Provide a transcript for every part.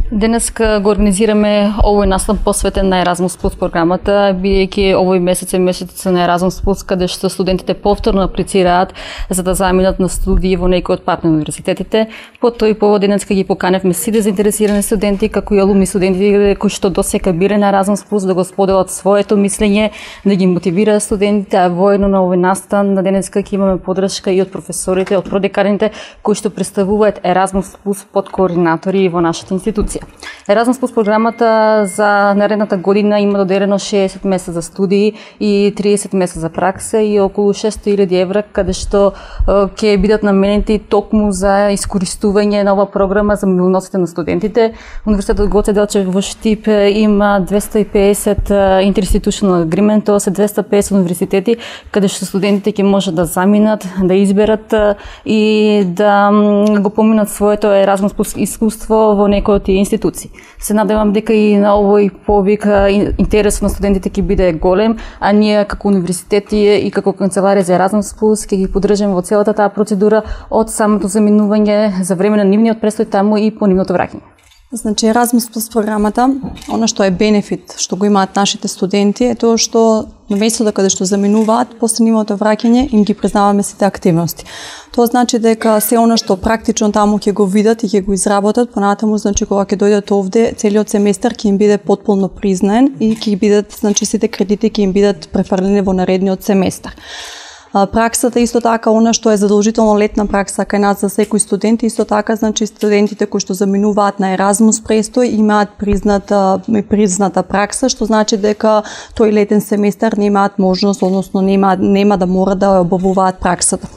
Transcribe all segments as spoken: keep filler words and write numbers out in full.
Денеска го организираме овој настан посветен на Еразмус плюс програмата, бидејќи овој месец е месец на Еразмус плюс, каде што студентите повторно аплицираат за да заминат на студии во некои од партнер универзитетите. По тој повод денеска ги поканевме сите заинтересирани студенти, како и алумни студенти кои што досека биле на Еразмус плюс, да го споделат своето мислење, да ги мотивираат студентите, а воедно на овој настан на денеска ќе имаме поддршка и од професорите, од продеканите кои што представуваат Еразмус плюс под координатори во нашата институција. Еразмус плюс програмата за наредната година има доделено шеесет месеца за студии и триесет месеца за пракса и околу шестстотини илјади евра, каде што ќе бидат наменети токму за искористување на оваа програма за мобилноста на студентите. Универзитетот Гоце Делчев во Штип има двесте и педесет интеринституционал агримент, тоа се двесте и педесет универзитети каде што студентите ќе можат да заминат, да изберат и да го поминат своето Еразмус плюс искуство во некој од тие институции. Се надевам дека и на овој повик интересот на студентите ќе биде голем, а ние како универзитети и како канцеларија за Еразмус плюс ќе ги поддржаме во целата таа процедура од самото заминување за време на нивниот престој таму и по нивното враќање. Значи Еразмус плюс програмата, она што е бенефит што го имаат нашите студенти е тоа што на местото каде што заминуваат, после нивното враќање им ги признаваме сите активности. Тоа значи дека се она што практично таму ќе го видат и ќе го изработат, понатаму значи кога ќе дојдат овде, целиот семестар ќе им биде потполно признаен и ќе бидат значи сите кредити ќе им бидат префрлени во наредниот семестар. Праксата исто така, она што е задолжително летна пракса кај нас за секој студент, исто така значи студентите кои што заминуваат на Еразмус престој имаат призната призната пракса, што значи дека тој летен семестар немаат можност, односно нема нема да мора да обавуваат праксата.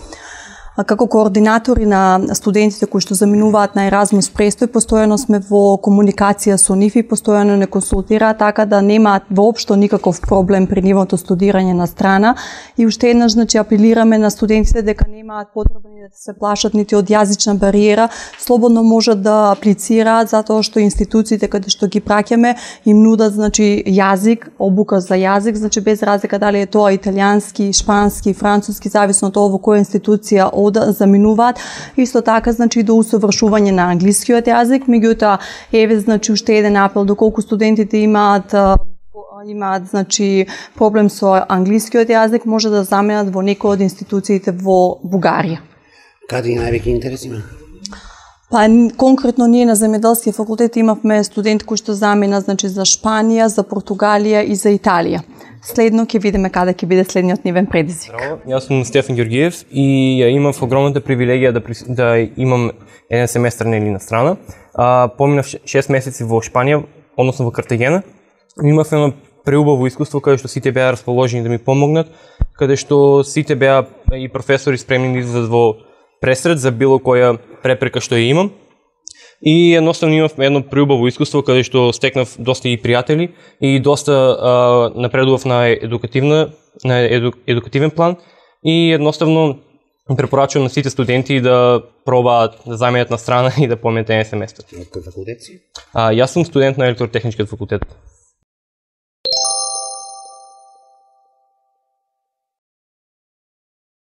Како координатори на студентите кои што заминуваат на Еразмус престој, постојано сме во комуникација со нив и постојано не консултираат, така да немаат воопшто никаков проблем при нивото студирање на страна. И уште еднаш значи апелираме на студентите дека немаат потреба ни да се плашат нити од јазична бариера, слободно можат да аплицираат затоа што институциите каде што ги праќаме им нудат значи јазик, обука за јазик, значи без разлика дали е тоа италијански, шпански, француски, зависно од тоа во која институција да заминуваат, исто така значи до усовршување на англискиот јазик, меѓутоа еве значи уште еден апел доколку студентите имаат имаат значи проблем со англискиот јазик, може да заменат во некој од институциите во Бугарија. Каде највеќе интерес има? Па конкретно ние на земјоделскиот факултет имавме студенти кои што замина значи за Шпанија, за Португалија и за Италија. Следно ќе видиме каде ќе биде следниот нивен предизвик. Здраво, јас сум Стефан Ѓоргиев и ја имав огромната привилегија да, да имам еден семестар нели на страна. А, поминав шест месеци во Шпанија, односно во Картагена. Имав едно преубаво искуство каде што сите беа расположени да ми помогнат, каде што сите беа и професори спремни да излезат во пресред за било која препрека што ја имам. И едноставно имав едно преубаво искуство каде што стекнав доста и пријатели и доста а, напредував на едукативна на еду, едукативен план и едноставно препорачувам на сите студенти да пробаат да заменат на страна и да поменат еден семестар. Од кој факултет си? А, јас сум студент на електротехничкиот факултет.